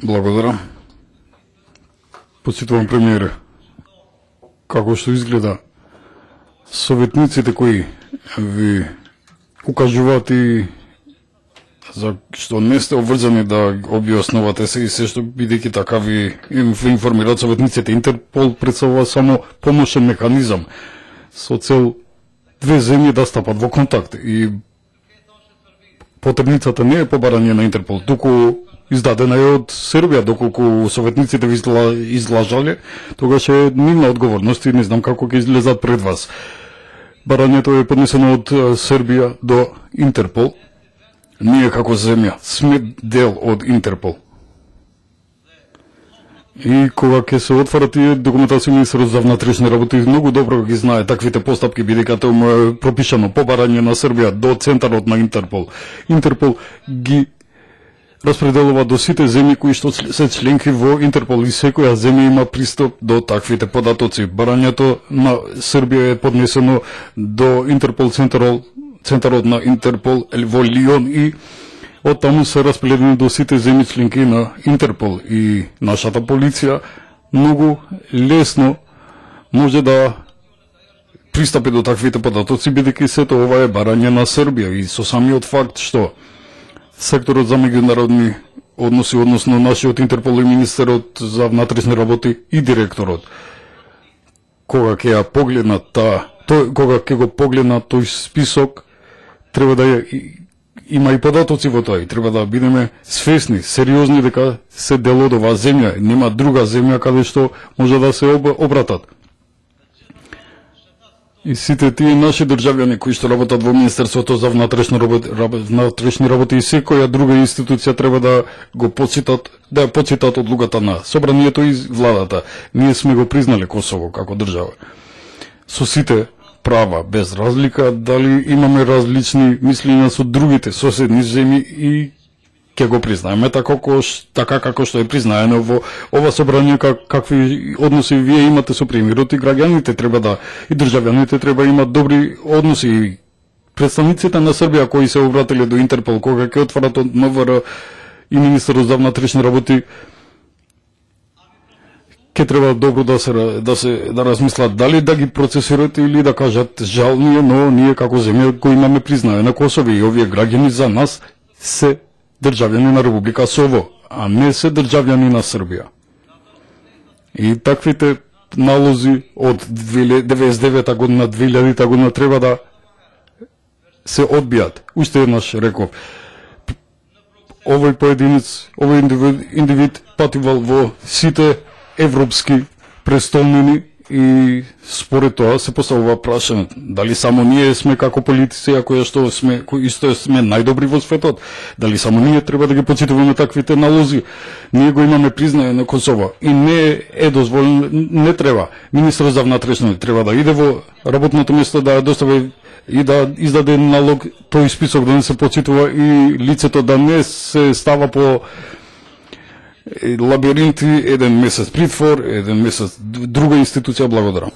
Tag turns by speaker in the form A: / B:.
A: Благодарам. Почитувам премиере, како што изгледа советниците кои ви укажуваат и за што не сте обврзани да објаснувате се и се што бидејќи така ви информираат советниците. Интерпол представува само помошен механизам со цел две земји да стапат во контакт и потребницата не е побарање на Интерпол, туку издадена е од Србија, доколку советниците ви излажале, тогаш е нивна одговорност и не знам како ќе излезат пред вас. Барањето е поднесено од Србија до Интерпол. Ние како земја сме дел од Интерпол. И кога ќе се отвора тие документации, министерот за внатрешни работи многу добро ги знае таквите постапки, бидејќи тоа е пропишано побарање на Србија до центарот на Интерпол. Интерпол ги распределува до сите земји кои што се членки во Интерпол и секоја земја има пристап до таквите податоци. Барањето на Србија е поднесено до Интерпол центарот на Интерпол во Лион и од таму се распределени до сите земји членки на Интерпол и нашата полиција многу лесно може да пристапи до таквите податоци, бидејќи сето ова е барање на Србија и со самиот факт што секторот за меѓународни односи, односно нашиот Интерпол и министерот за внатрешни работи и директорот, кога ќе ја погледнат кога ќе го погледнат тој список, треба да има и податоци во тоа и треба да бидеме свесни, сериозни дека се дел од оваа земја, нема друга земја каде што може да се обратат. И сите тие наши државјани кои што работат во Министерството за внатрешни работи и секоја друга институција треба да го почитат, да ја почитат одлуката на Собранието и владата. Ние сме го признали Косово како држава. Со сите права, без разлика дали имаме различни мислења со другите соседни земји и ќе го признаеме така како што е признаено во ова собрание, какви односи вие имате со премиерот и граѓаните треба да и државјаните треба имат добри односи и представниците на Србија кои се обратиле до Интерпол кога ќе отварат од МВР и министерот за внатрешни работи ќе треба добро да размислат дали да ги процесират или да кажат жал ние, но ние како земја кои имаме признаено Косово и овие граѓани за нас се државјани на Република Сово, а не се државјани на Србија. И таквите налози од 1999 година, 2000 година треба да се одбијат. Уште еднаш реков, овој поединец, овој индивид патувал во сите европски престолнини и според тоа се поставува прашање дали само ние сме како политици, кои што сме најдобри во светот, дали само ние треба да ги почитуваме таквите налози. Ние го имаме признање на Косово и не е дозволено, не треба. Министерот за внатрешни треба да иде во работното место да достави и да издаде налог тој список да не се почитува и лицето да не се става по лабиринти, еден месец притвор, еден месец друга институција. Благодарам.